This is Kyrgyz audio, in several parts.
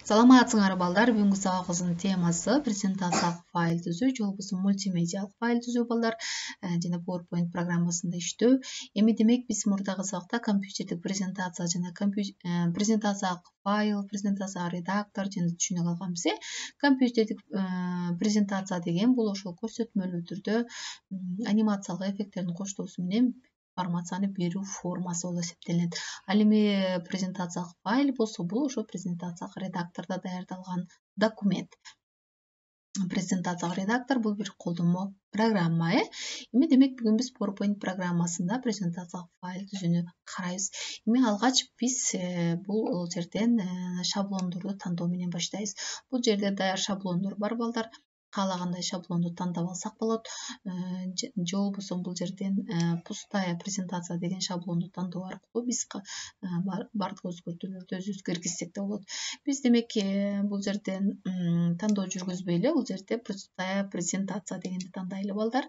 Саламатсыңар балдар. Бүгүнкү сабагыбыздын темасы презентациялык файл түзүү же болбосо мультимедиалык файл түзүү балдар жана PowerPoint программасында иштөө. Эми демек биз мурдагы сабакта компьютердик презентация жана презентациялык файл, презентациялык редактор жана түшүнө калганбыз. Компьютердик презентация деген бул ошол көрсөтмөлүү түрдө анимациялык эффекттердин коштоосу менен информацияны берүү формасы болуп эсептелинет. Ал эми презентациялык файл болсо бул ошо презентациялык редактордо даярдалган документ. Презентациялык редактор бул бир колдонмо программа. Эми демек бүгүн биз PowerPoint программасында презентациялык файл түзүүнү карайбыз. Эми алгач биз бул жерден шаблондорду тандоо менен баштайбыз. Бул жерде даяр шаблондор бар балдар. Каалагандай шаблонду тандап алсак болот. Же болбосо бул жерден пустая презентация деген шаблонду тандоо аркылуу биз бардык өзгөртүүлөрдү өзүбүз киргизсек да болот. Биз демек бул жерден тандоо жүргүзбөй эле бул жерде пустая презентация дегенди тандайлы балдар.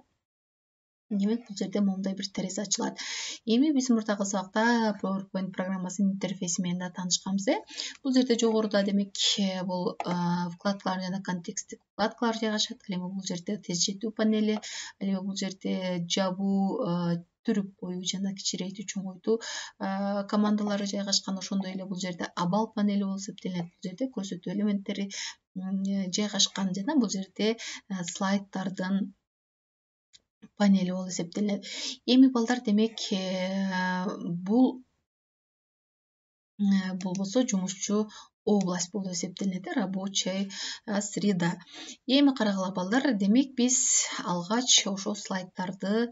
Демек бул жерде моундай бир терезе ачылат. Эми биз мурдагы сабакта PowerPoint программасынын интерфейси менен да таанышканбыз. Бул жерде жогоруда демек бул вкладкалар жана контексттик вкладкалар жайгашат. Ал эми бул жерде тез жетүү панели, ал эми бул жерде жабуу, түрүп коюу жана кичирейтүү, чоңойтуу командалары жайгашкан. Ошондой эле бул жерде абал панели болуп эсептелет. Бул жерде көрсөтүү элементтери жайгашкан жана бул жерде слайддардын панели болуп эсептелет. Эми балдар демек бул болбосо жумушчу область болуп эсептелет, рабочая среда. Эми карагыла балдар, демек биз алгач ошол слайддарды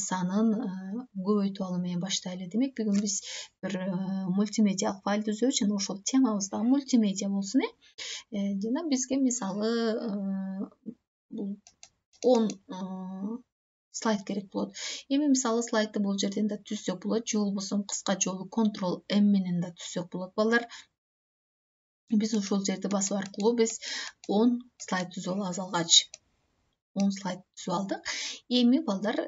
санын көбөйтүп алуу менен баштайлы. Демек бүгүн биз бир мультимедиалык файл түзөбүз жана ошол темабыз дагы мультимедиа болсун. Жана бизге мисалы бул 10 слайд керек болот. Эми мисалы слайдты бул жерден да түзсөк болот, же болбосо кыска жолу Ctrl+M менен да түзсөк болот балдар. Биз ушул жерди басуу аркылуу биз 10 слайд түзүп алабыз алгач. 10 слайд түзүп алдык. Эми балдар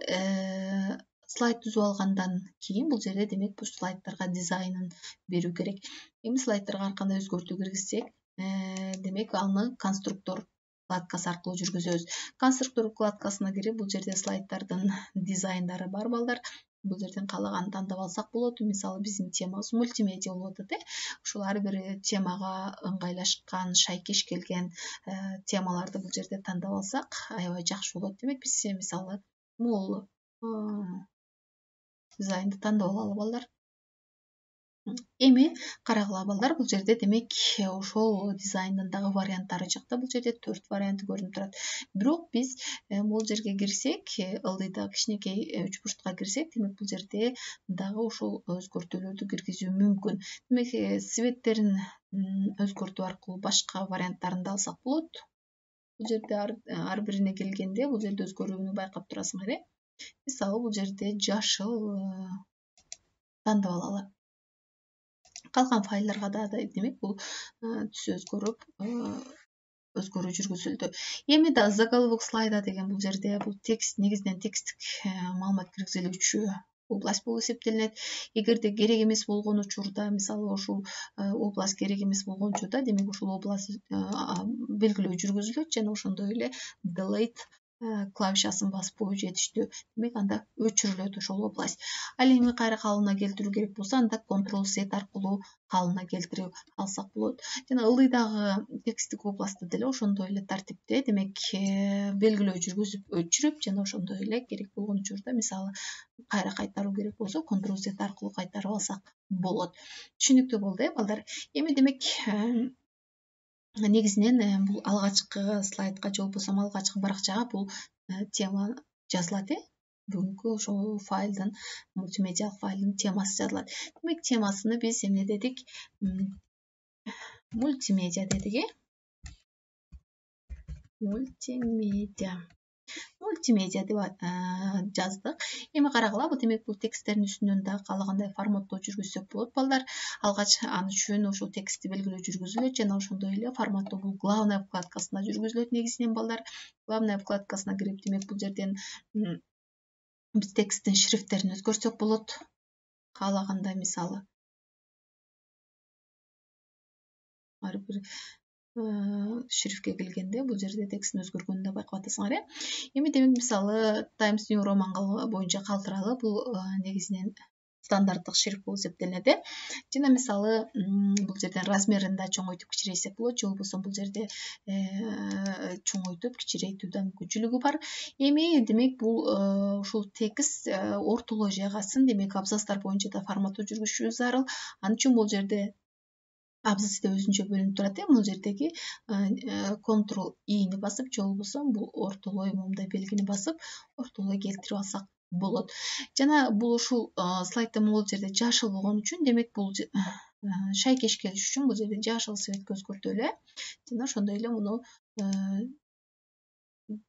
слайд түзүп алгандан кийин бул жерде демек бул слайддарга дизайнын берүү керек. Эми слайддарга ар кандай өзгөртүү киргизсек, демек аны конструктор вкладкасы аркылуу жүргүзөбүз. Конструктор вкладкасына кирип бул жерде слайддардын дизайндары бар балдар. Бул жерден каалаганын тандап алсак болот. Мисалы биздин темабыз мультимедиа болуп атат. Ушул ар бир темага ыңгайлашкан, шайкеш келген темаларды бул жерде тандап алсак аябай жакшы болот. Демек биз мисалы бул дизайнды тандап алалы балдар. Эми карагыла балдар, бул жерде демек ошол дизайндын дагы варианттары жакта. Бул жерде 4 варианты көрүнүп турат. Бирок биз бул жерге кирсек, ылдыйда кичинекей үч бурчтукка кирсек, демек бул жерде дагы ошол өзгөртүүлөрдү киргизүү мүмкүн. Демек цветтерин өзгөртүү аркылуу башка варианттарын да алсак болот. Бул жерде ар бирине келгенде бул жерде өзгөрүүнү байкап турасыңар. Мисалы бул жерде жашыл тандап алалы. Калган файлдарга да демек бул түс өзгөрүп, өзгөрүү жүргүзүлдү. Эми да заголовок слайда деген бул жерде бул текст, негизинен тексттик маалымат киргизилүүчү область болуп эсептелинет. Эгерде керек эмес болгон учурда, мисалы ушул область керек эмес болгон учурда, демек ушул область белгилөө жүргүзүлөт жана ошондой эле delete клавишасын басып коюу жетиштүү. Демек анда өчүрүлөт ошол область. Ал эми кайра калыбына келтирүү керек болсо, анда Ctrl+Z аркылуу калыбына келтирип алсак болот. Жана ылдыйдагы тексттик областты деле ошондой эле тартипте, демек белгилөө жүргүзүп өчүрүп жана ошондой эле керек болгон учурда, мисалы кайра кайтаруу керек болсо, Ctrl+Z аркылуу кайтарып алсак болот. Түшүнүктүү болду, балдар. Эми демек негизинен бул алгачкы слайдка же болбосо алгачкы баракчага бул тема жазылат. Бүгүнкү ошол файлдын, мультимедиалык файлдын темасы жазылат. Демек темасыны биз эмне дедик? Мультимедиа дедик. Мультимедиа деп жаздык. Эми карагыла, бул демек бул тексттердин үстүнөн да каалагандай форматтоо жүргүзсөк болот балдар. Алгач аны үчүн ошол текстти белгилөө жүргүзүлөт жана ошондой эле форматтоо бул главная вкладкасында жүргүзүлөт негизинен балдар. Главная вкладкасына кирип, демек бул жерден биз тексттин шрифттерин өзгөртсөк болот. Каалагандай мисалы ар бир шрифтке келгенде бул жерде текстин өзгөргөнүн да байкап атасыңар. Эми демек мисалы Times New Roman боюнча калтыралы бул негизинен стандарттык шрифт болуп эсептелинет. Жана мисалы бул жерден размерин да чоңойтуп кичирейсек болот, же болбосо бул жерде чоңойтуп кичирейтүү да мүмкүнчүлүгү бар. Эми демек бул ушул текст ортолой жайгасын, демек абзацтар боюнча да форматтоо жүргүзүшү зарыл. Ал үчүн бул жерде абзац да өзүнчө бөлүнүп турат. Бул жердеги Ctrl+I басып, же болбосо бул ортолой моундай белгини басып, ортолой келтирип алсак болот. Жана бул ушул слайдда бул жерде жашыл болгон үчүн, демек бул шайкеш келиш үчүн бул жерде жашыл цветке өзгөртөлү. Жана ошондой эле муну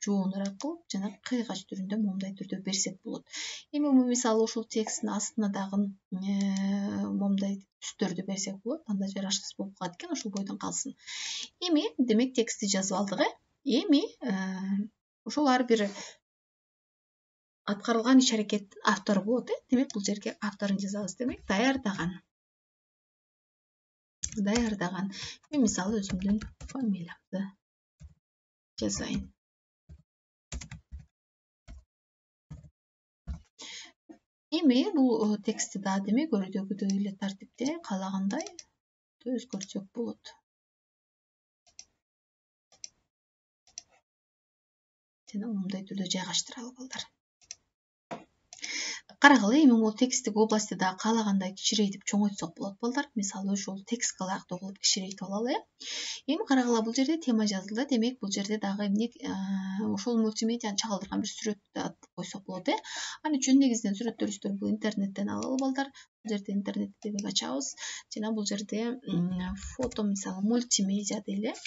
жоонураак кылып, жана кыйгач түрүндө моундай түрдө берсек болот. Эми мисалы ушул тексттин астына дагы моундай түстөрдү берсек болот. Анда жарашсыз болуп калат экен, ошол бойдон калсын. Эми демек текстти жазып алдык. Эми ушул ар бир аткарылган иш-аракеттин автору болот. Демек бул жерге авторун жазабыз. Демек даярдаган. Мен мисалы өзүмдүн фамилиямды жазайын. Эми бул текстти да демек өрүдөгүдөй эле тартипте каалагандай өзгөртсөк болот. Жана мындай түрдө жайгаштыралы балдар. Карагыла, эми бул тексттик областты да каалагандай кичирейтип чоңойтсок болот балдар. Мисалы ушул текстке ылайыктуу кылып кичирейтип алалы. Эми карагыла, бул жерде тема жазылды. Демек бул жерде дагы эмне ушул мультимедианы чагылдырган бир сүрөттү койсок болот. Ал үчүн негизинен сүрөттөлүштөр бул интернеттен алалы балдар. Бул жерде интернетти демек ачабыз. Жана бул жерде фото, мисалы мультимедиа дейли.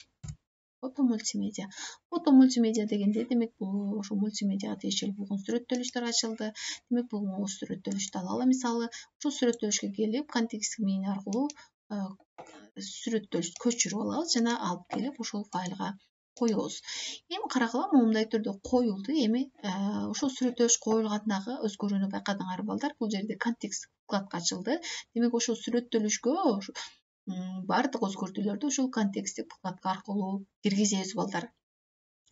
Фото мультимедиа дегенде демек бул ошо мультимедиага тиешелүү болгон сүрөттөлүштөр ачылды. Демек бул сүрөттөлүштү алалы. Мисалы ушул сүрөттөлүшкө келип контекстик меню аркылуу сүрөттөлүштү көчүрүп алабыз жана алып келип ушул файлга коебуз. Эми карагыла, мындай түрдө коюлду. Эми ушул сүрөттөлүш коюлгандагы өзгөрүүнү байкадыңар балдар. Бул жерде контекст вкладка ачылды. Демек ошол сүрөттөлүшкө бардык өзгөртүүлөрдү ушул контексттик вкладка аркылуу киргизебиз балдар.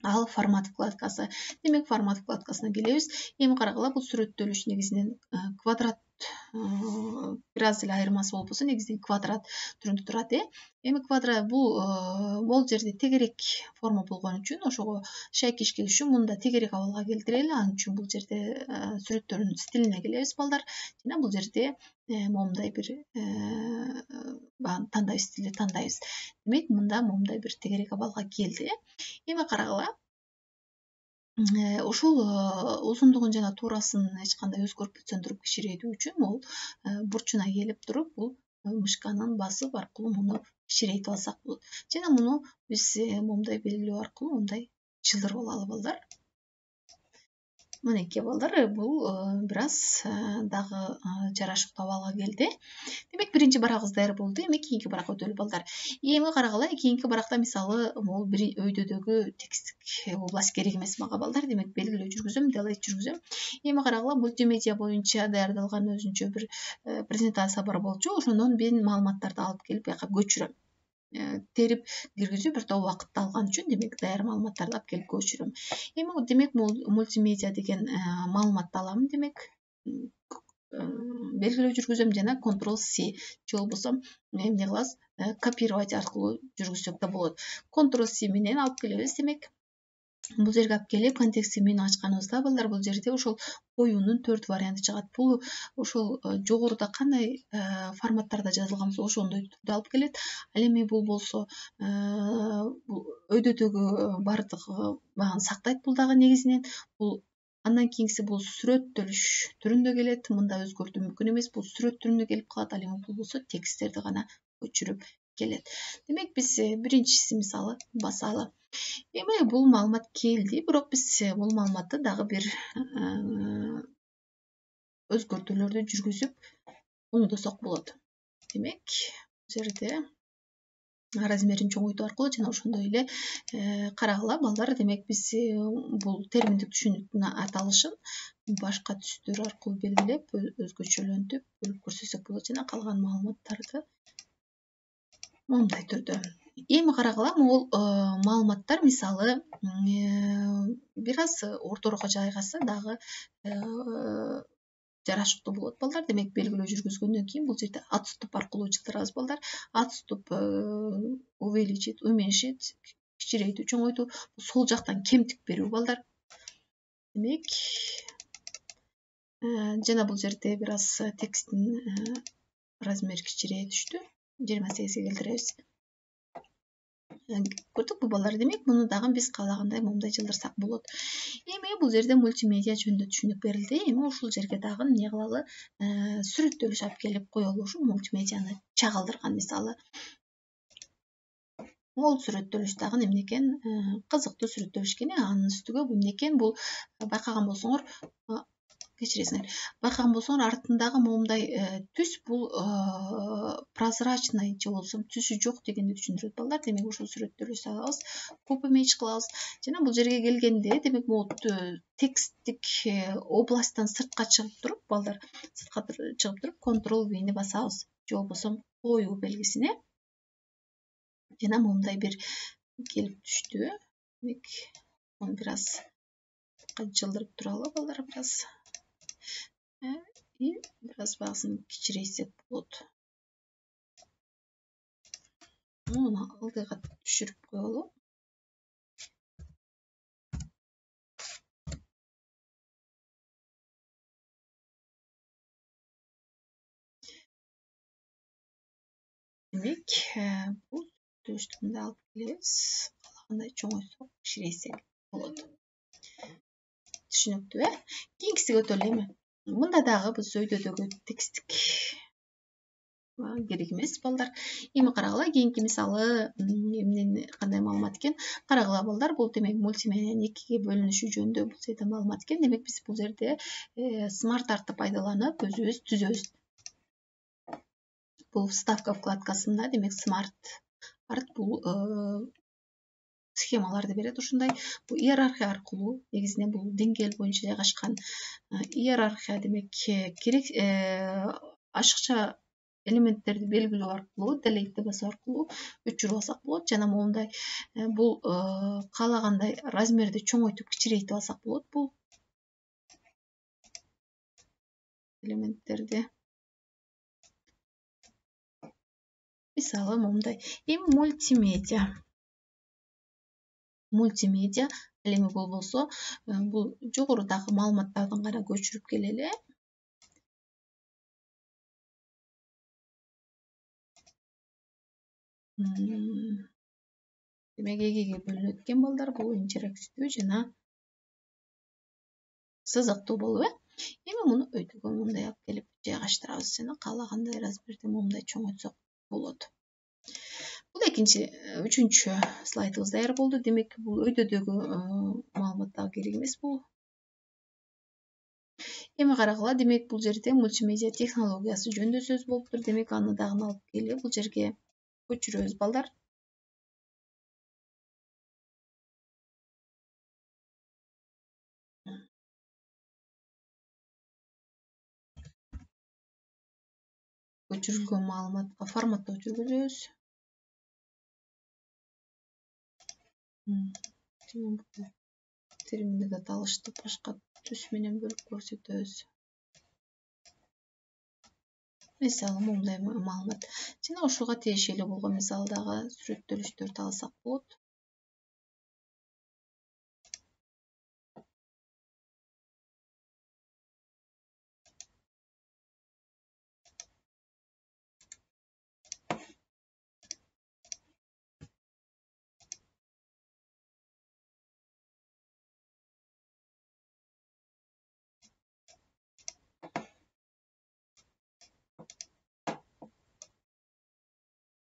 Ал формат вкладкасы. Демек формат вкладкасына келебиз. Эми карагыла, бул сүрөттөлүш негизинен квадрат бир аз эле айырмасы болбосо негизинен квадрат түрүндө турат. Эми квадрат бул жерде тегерек форма болгон үчүн ошого шайкеш келиш үчүн мында тегерек абалга келтирели. Ал үчүн бул жерде сүрөттөрдүн стилине келебиз балдар. Жана бул жерде моундай бир тандайбыз, стилди тандайбыз. Демек мында моундай бир тегерек абалга келди. Эми карагыла, ушул узундугун жана туурасын эч кандай өзгөртүп сөндүрүп кичирейтүү үчүн бул бурчуна келип туруп, бул мышканын басып аркылуу муну кичирейтип алсак болот. Жана муну биз моундай белгилөө аркылуу мындай чылдырып алалы балдар. Мынеки балдар, бул бир аз дагы жарашыктуу абалга келди. Демек биринчи барагыбыз даяр болду. Эми кийинки баракка өтөлү балдар. Эми карагыла, кийинки баракта мисалы бул бир өйдөдөгү текстик область керек эмес мага балдар. Демек белгилөө жүргүзөм, делет жүргүзөм. Эми карагыла, мультимедиа боюнча даярдалган өзүнчө бир презентация бар болчу. Ошондон мен маалыматтарды алып келип буяка көчүрөм. Терип киргизүү бир топ убакытты алган үчүн демек даяр маалыматтарды алып келип көчүрөм. Эми демек мультимедиа деген маалыматты алам, демек белгилөө жүргүзөм жана Ctrl+C же болбосо эмне кылабыз, копировать аркылуу жүргүзсөк да болот. Ctrl+C менен алып келебиз. Демек бул жерге алып келип контекстик меню ачканыбызда балдар, бул жерде ошол коюунун 4 варианты чыгат. Бул ошол жогоруда кандай форматтарда жазылган болсо ошондой түрдө алып келет. Ал эми бул болсо өйдөдөгү бардык багын сактайт. Бул дагы негизинен бул андан кийинкиси бул сүрөттөлүш түрүндө келет. Мында өзгөртүү мүмкүн эмес. Бул сүрөт түрүндө келип калат. Ал эми бул болсо тексттерди гана көчүрүп келет. Демек биз биринчиси мисалы басалы. Эми бул маалымат келди, бирок биз бул маалыматты дагы бир өзгөртүүлөрдү жүргүзүп оңдосок болот. Демек, бул жерде размерин чоңойтуу аркылуу жана ошондой эле карагыла балдар, демек биз бул терминдик түшүнүктүн аталышын башка түстөр аркылуу белгилеп, өзгөчөлөнтүп, бөлүп көрсөтсөк болот жана калган маалыматтарды моундай түрдө. Эми карагыла, могул маалыматтар мисалы бир аз ортороко жайгашса дагы жарашыктуу болот балдар. Демек белгилөө жүргүзгөндөн кийин бул жерде отступ аркылуу жылдырабыз балдар. Отступ увеличить, уменьшить, кичирейтүү, чоңойтуу, сол жактан кемтик берүү балдар. Демек жана бул жерде бир аз тексттин размери кичирее түштү. 28-ге келтиребиз. Көрдүкпү балдар? Демек муну дагы биз каалагандай момундай жылдырсак болот. Эми бул жерде мультимедиа жөнүндө түшүнүк берилди. Эми ушул жерге дагы эмне кылалы? Сүрөттөлүш алып келип коелу. Ушу мультимедианы чагылдырган мисалы. Бул сүрөттөлүш дагы эмне экен? Кызыктуу сүрөттөлүш экен. Анын үстүгө бул эмне экен? Бул байкаган болсоңор, артындагы момундай түс бул прозрачный же болбосо түсү жок дегенди түшүндүрөт балдар. Демек ушул сүрөттөлүш салабыз, copy image кылабыз. Жана бул жерге келгенде, демек могу тексттик областтан сыртка чыгып туруп, балдар, сыртка чыгып туруп, Ctrl-V-ни басабыз, же болбосо коюу белгисине. Жана момундай бир келип түштү. Демек муну бир аз жылдырып туралы балдар, бир аз. И бир аз багысын кичирейтсек болот. Муну алдыга түшүрүп коелу. Демек, бул сүрөттөлүштү мындай алып келебиз. Каалагандай чоңойтсок, кичирейтсек болот. Түшүнүктүү, Кийинкисиге өтөлү эми. Мында дагы биз өйдөдөгү тексттик керек эмес балдар. Эми карагыла, кийинки мисалы эмнени кандай маалымат экен? Карагыла балдар, бул демек мультимедианын экиге бөлүнүшү жөнүндө бул жерде маалымат экен. Демек биз бул жерде Smart Art'ты пайдаланып өзүбүз түзөбүз. Бул вставка вкладкасында, демек Smart Art бул схемаларды берет ушундай. Бул иерархия аркылуу, негизинен бул деңгээл боюнча жайгашкан иерархия, демек керек ашыкча элементтерди белгилөө аркылуу, delete басуу аркылуу өчүрүп алсак болот. Жана момундай бул каалагандай размерди чоңойтуп, кичирейтип алсак болот. Бул элементтерди мисалы момундай. Эми мультимедиа ал эми болбосо, бул жогорудагы маалыматтардын гана көчүрүп келели. Демек экиге бөлүнөт экен балдар. Бул интерактивдүү жана сызыктуу болуп, Эми муну өйдөгө мындай алып келип жайгаштырабыз. Жана каалагандай размерди момундай чоңойтсок болот. Бул үчүнчү слайдыбыз даяр болду. Демек бул өйдөдөгү маалымат дагы керек эмес бул. Эми карагыла, демек бул жерде мультимедиа технологиясы жөнүндө сөз болуптур. Демек аны дагы алып келип бул жерге көчүрөбүз балдар. Көчүрүлгөн маалыматка форматтоо жүргүзөбүз. Теримдик аталышты башка түс менен бөлүп көрсөтөбүз. Мисалы момундай маалымат. Жана ушуга тиешелүү болгон мисалдагы сүрөттөлүштөрдү алсак болот.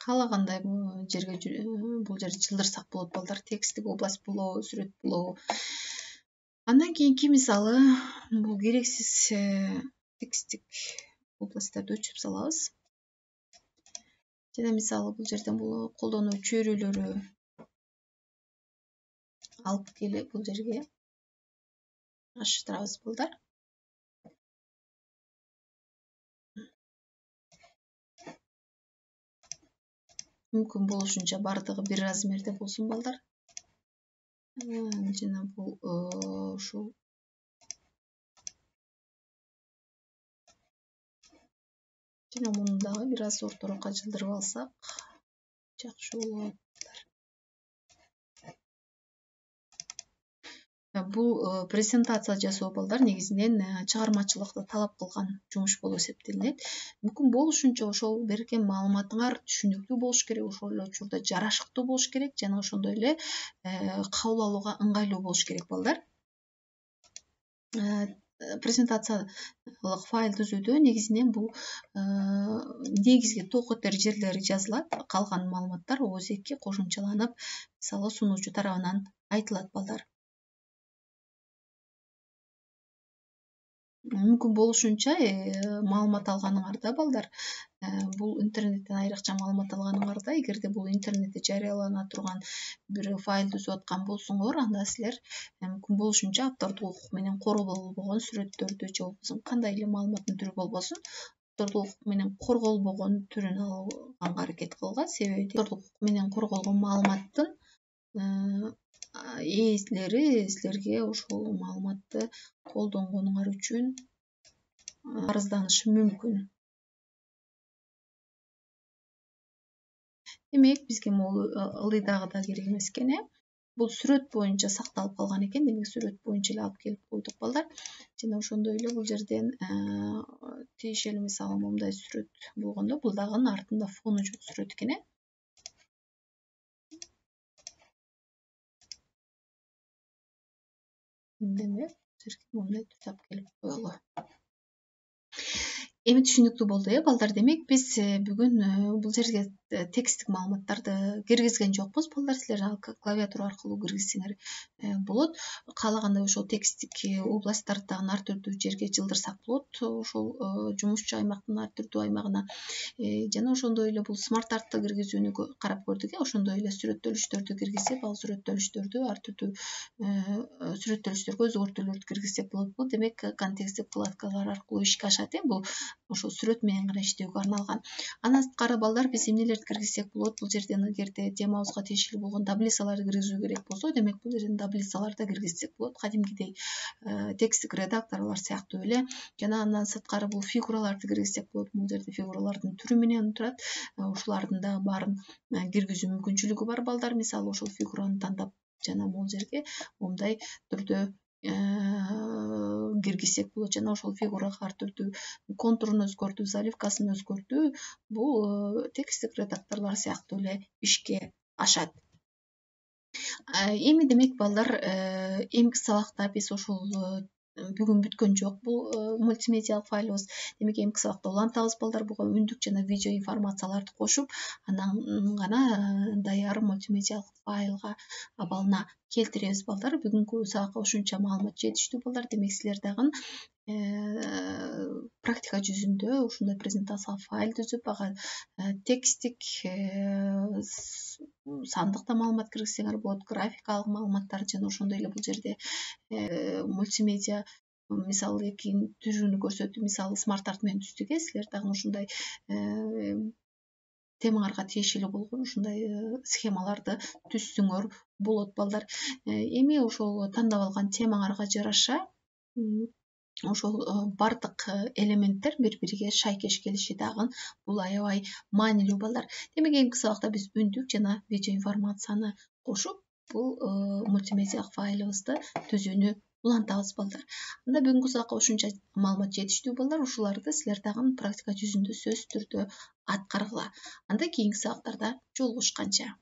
Каалагандай жерге бул жерди жылдырсак болот балдар. Тексттик область болобу, сүрөт болобу. Андан кийинки мисалы бул керексиз тексттик областтарды өчүрүп салабыз. Жана мисалы бул жерден бул колдонуу чөйрөлөрү алып келип бул жерге аштырабыз балдар. мүмкүн болушунча бардыгы бир размерде болсун балдар. Жана бул ушул жана муну дагы бир аз ортороокко жылдырып алсак жакшы болот. Бул презентация жасоо балдар негизинен чыгармачылыкты талап кылган жумуш болуп эсептелинет. Мүмкүн болушунча ошол берген маалыматыңар түшүнүктүү болуш керек, ошол эле учурда жарашыктуу болуш керек жана ошондой эле кабыл алууга ыңгайлуу болуш керек балдар. Презентациялык файл түзүүдө негизинен бул негизги ток этер жерлери жазылат, калган маалыматтар ооз-2 кошумчаланып, мисалы сунуучу тарабынан айтылат балдар. Мүмкүн болушунча маалымат алганыңарда балдар, бул интернеттен айрыкча маалымат алганыңарда, эгерде бул интернетте жарыялана турган бир файл түзүп аткан болсоңор, анда силер мүмкүн болушунча автордук укук менен корголбогон сүрөттөрдү же болбосо кандай эле маалыматтын түрү болбосун, автордук укук менен корголбогон түрүн алганга аракет кылгыла. Себеби автордук укук менен корголгон маалыматтын ээлери силерге ошол маалыматты колдонгонуңар үчүн арызданышы мүмкүн. Демек, бизге могу ылдыйдагы да керек эмес экен, Бул сүрөт боюнча сакталып калган экен, демек сүрөт боюнча эле алып келип койдук балдар. Жана ошондой эле бул жерден тиешелүү мисалы момундай сүрөт болгондо, бул дагы артында фону жок сүрөт экен, Демек, момундай түрдө алып келип коелу. Эми түшүнүктүү болду, балдар. Демек, биз бүгүн бул жерге тексттик маалыматтарды киргизген жокпуз, балдар. Силер клавиатура аркылуу киргизсеңер болот. Каалагандай ошол тексттик областтарды дагы ар түрдүү жерге жылдырсак болот. Ошол жумушчу аймактын ар түрдүү аймагына. Жана ошондой эле бул смарт-артты киргизүүнү карап көрдүк, Ошондой эле сүрөттөлүштөрдү киргизип, ал сүрөттөлүштөрдү ар түрдүү сүрөттөлүштөргө өзгөртүүлөрдү киргизсек болот. Бул демек контексттик вкладкалар аркылуу ишке ашат, бул ошол сүрөт менен гана иштөөгө арналган. Андан сырткары балдар, биз эмнелерди киргизсек болот? Бул жерден эгерде темабызга тиешелүү болгон таблицаларды киргизүү керек болсо, демек бул жерден таблицаларды киргизсек болот. Кадимкидей тексттик редакторлор сыяктуу эле. Жана андан сырткары бул фигураларды киргизсек болот. Бул жерде фигуралардын түрү менен турат. Ушулардын дагы баарын киргизүү мүмкүнчүлүгү бар балдар. Мисалы, ошол фигураны тандап жана бул жерге момундай түрдө киргизсек болот. Жана ошол фигурага ар түрдүү контурун өзгөртүү, заливкасын өзгөртүү бул тексттик редакторлор сыяктуу эле ишке ашат. Эми демек балдар, эмки сабакта биз ошол бүгүн бүткөн жок бул мультимедиалык файлыбыз. Демек, эмки сабакта улантабыз балдар. Буга үндүк жана видео информацияларды кошуп, анан гана даяр мультимедиалык файлга абалына келтиребиз балдар. Бүгүнкү сабакка ушунча маалымат жетиштүү балдар. Демек, силер дагы практика жүзүндө ушундай презентациялык файл түзүп, ага тексттик, сандык да маалымат киргизсеңер болот, графикалык маалыматтар жана ошондой эле бул жерде мультимедиа мисалы экинин түрүнү көрсөтүп, мисалы смарт-арт менен түздүк, силер дагы ушундай темаңарга тиешелүү болгон ушундай схемаларды түзсөңөр болот балдар. Эми ошол тандап алган темаңарга жараша ошол бардык элементтер бири-бириге шайкеш келиши дагы бул аябай маанилүү балдар. Демек, эмки сабакта биз үндүк жана видео информацияны кошуп, бул мультимедиалык файлыбызды түзүүнү улантабыз балдар. Анда бүгүнкү сабакка ушунча маалымат жетиштүү балдар. Ушуларды силер дагы практика жүзүндө сөзсүз түрдө аткаргыла. Анда кийинки сабактарда жолугушканча.